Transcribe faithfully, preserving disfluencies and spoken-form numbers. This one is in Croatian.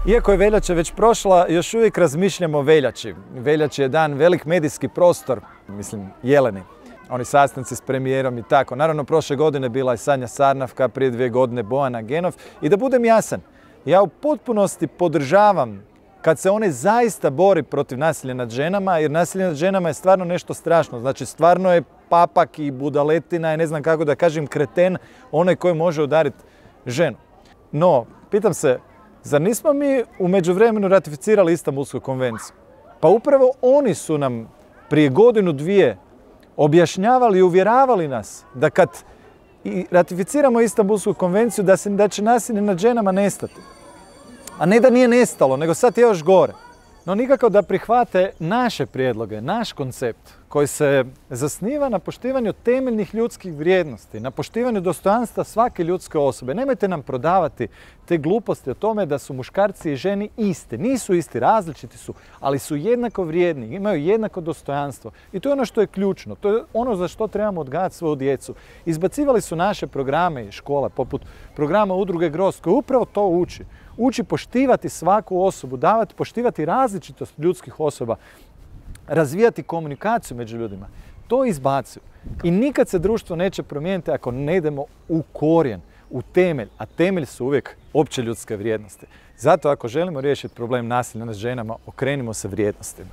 Iako je veljača već prošla, još uvijek razmišljamo o veljači. Veljači je dan velik medijski prostor, mislim Jeleni. Oni sastanci s premijerom i tako. Naravno, prošle godine bila je Sanja Sarnavka, prije dvije godine Bojana Genov. I da budem jasan, ja u potpunosti podržavam kad se one zaista bori protiv nasilja nad ženama, jer nasilje nad ženama je stvarno nešto strašno. Znači, stvarno je papak i budaletina i ne znam kako da kažem kreten onaj koji može udariti ženu. No, pitam se, zar nismo mi u međuvremenu ratificirali Istanbulsku konvenciju? Pa upravo oni su nam prije godinu, dvije objašnjavali i uvjeravali nas da kad i ratificiramo Istanbulsku konvenciju da, se, da će nasilje nad ženama nestati. A ne da nije nestalo, nego sad je još gore. No nikako da prihvate naše prijedloge, naš koncept koji se zasniva na poštivanju temeljnih ljudskih vrijednosti, na poštivanju dostojanstva svake ljudske osobe. Nemojte nam prodavati te gluposti o tome da su muškarci i ženi isti. Nisu isti, različiti su, ali su jednako vrijedni, imaju jednako dostojanstvo. I to je ono što je ključno, to je ono za što trebamo odgajati svoju djecu. Izbacivali su naše programe iz škola, poput programa Udruge Grozd, koji upravo to uči. Uči poštivati svaku osobu, davati, poštivati različitost ljudskih osoba, razvijati komunikaciju među ljudima. To izbacuju. I nikad se društvo neće promijeniti ako ne idemo u korijen, u temelj, a temelj su uvijek opće ljudske vrijednosti. Zato ako želimo riješiti problem nasilja nad ženama, okrenimo se vrijednostima.